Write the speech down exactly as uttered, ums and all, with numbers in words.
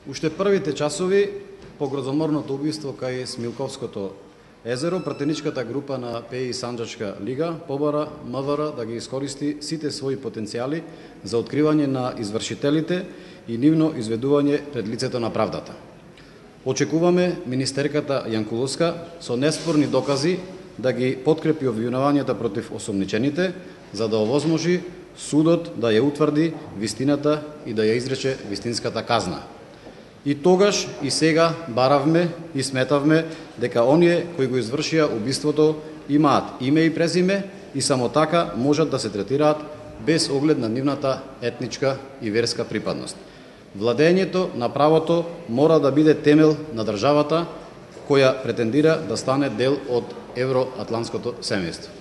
Уште првите часови по грозоморното убиство кај Смилковското езеро, пратеничката група на ПЕИ Санџачка лига побара МВР да ги искористи сите своји потенцијали за откривање на извршителите и нивно изведување пред лицето на правдата. Очекуваме министерката Јанкуловска со неспорни докази да ги подкрепи обвинувањата против осомничените, за да овозможи судот да ја утврди вистината и да ја изрече вистинската казна. И тогаш и сега баравме и сметавме дека оние кои го извршија убиството имаат име и презиме и само така можат да се третираат без оглед на нивната етничка и верска припадност. Владењето на правото мора да биде темел на државата која претендира да стане дел од евроатлантското семејство.